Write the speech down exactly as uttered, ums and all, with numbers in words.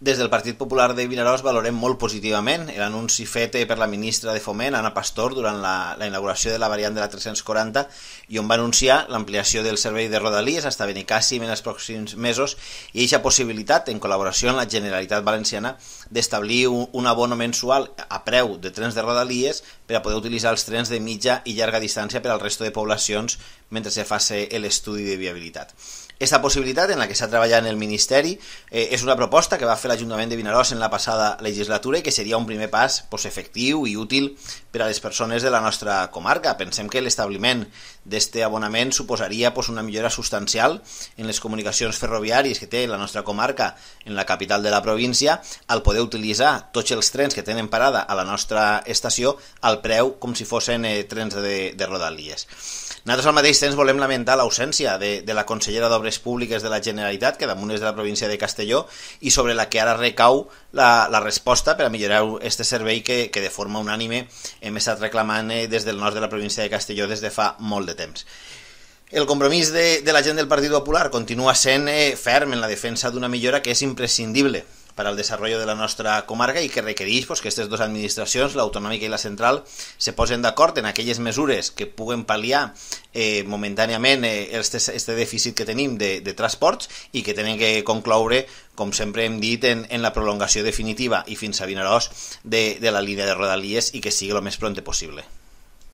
Des del Partit Popular de Vinaròs valorem molt positivament l'anunci fet per la ministra de Foment, Ana Pastor, durant la, la inauguració de la variant de la tres-cents quaranta, i on va anunciar l'ampliació del servei de Rodalies fins a Benicàssim en els pròxims mesos i aquesta possibilitat, en col·laboració amb la Generalitat Valenciana, d'establir un, un abono mensual a preu de trens de Rodalies per a poder utilitzar els trens de mitja i llarga distància per al resto de poblacions mentre se faci l'estudi de viabilitat. Aquesta possibilitat, en la que s'ha treballat en el Ministeri, eh, és una proposta que va fer l'Ajuntament de Vinaròs en la passada legislatura i que seria un primer pas pues, efectiu i útil per a les persones de la nostra comarca. Pensem que l'establiment d'aquest abonament suposaria pues, una millora substancial en les comunicacions ferroviàries que té la nostra comarca en la capital de la província, al poder utilitzar tots els trens que tenen parada a la nostra estació al preu com si fossin eh, trens de, de Rodalies. Nosaltres al mateix temps volem lamentar l'ausència de, de la consellera d'Obres Públiques de la Generalitat, que damunt és de la província de Castelló, i sobre la que ara recau la, la resposta per a millorar aquest servei que, que de forma unànime hem estat reclamant des del nord de la província de Castelló des de fa molt de temps. El compromís de, de la gent del Partit Popular continua sent eh, ferm en la defensa d'una millora que és imprescindible per al desenvolupament de la nostra comarca i que requereix pues, que aquestes dues administracions, l'autonòmica i la central, se posen d'acord en aquelles mesures que puguen pal·liar eh, momentàniament eh, este, este dèficit que tenim de, de transports i que tenen que concloure, com sempre hem dit, en, en la prolongació definitiva i fins a Vinaròs de, de la línia de Rodalies i que sigui el més prompte possible.